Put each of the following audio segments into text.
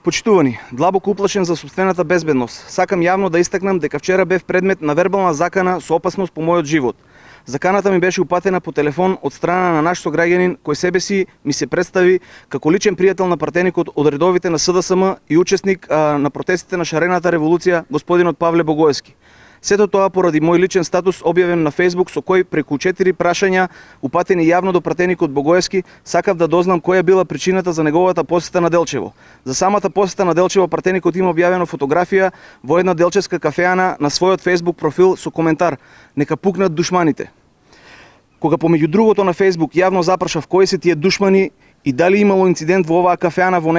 Почитувани, длабоко уплашен за сопствената безбедност, сакам јавно да истакнам дека вчера бев предмет на вербална закана со опасност по мојот живот. Заканата ми беше упатена по телефон од страна на наш сограѓанин кој себе си ми се представи како личен пријател на пратеникот од редовите на СДСМ и учесник на протестите на шарената револуција, господинот Павле Богоевски. Сето тоа поради мој личен статус објавен на Facebook со кој преку 4 прашања упатени јавно до пратеникот Богоевски, сакав да дознам која била причината за неговата посета на Делчево. За самата посета на Делчево пратеникот има објавено фотографија во една делчевска кафеана на својот Facebook профил со коментар: "Нека пукнат душманите." Кога помеѓу другото на Facebook јавно запрашав кои се тие душмани и дали имало инцидент во оваа кафеана во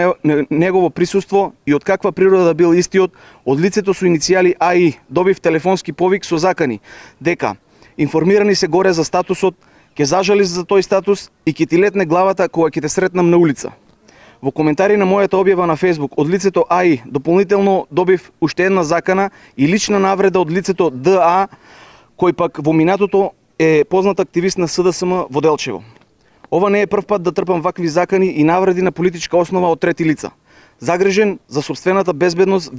негово присуство и од каква природа бил истиот, од лицето со иницијали АИ добив телефонски повик со закани дека информирани се горе за статусот, ќе зажалиш за тој статус и ќе ти летне главата кога ќе те сретнам на улица. Во коментари на мојата објава на Facebook од лицето АИ дополнително добив уште една закана и лична навреда од лицето ДА, кој пак во минатото е познат активист на СДСМ во Делчево. Ова не е прв пат да трпам вакви закани и навреди на политичка основа од трети лица. Загрижен за сопствената безбедност,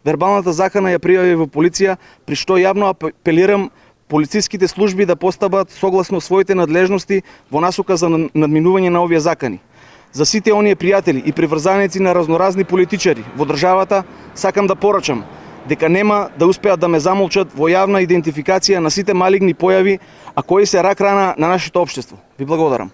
вербалната закана ја пријави во полиција, при што јавно апелирам полициските служби да постапат согласно своите надлежности во насока за надминување на овие закани. За сите оние пријатели и приврзаници на разноразни политичари во државата, сакам да порачам дека нема да успеат да ме замолчат во јавна идентификација на сите малигни појави, а кои се рак рана на нашето општество. Ви благодарам.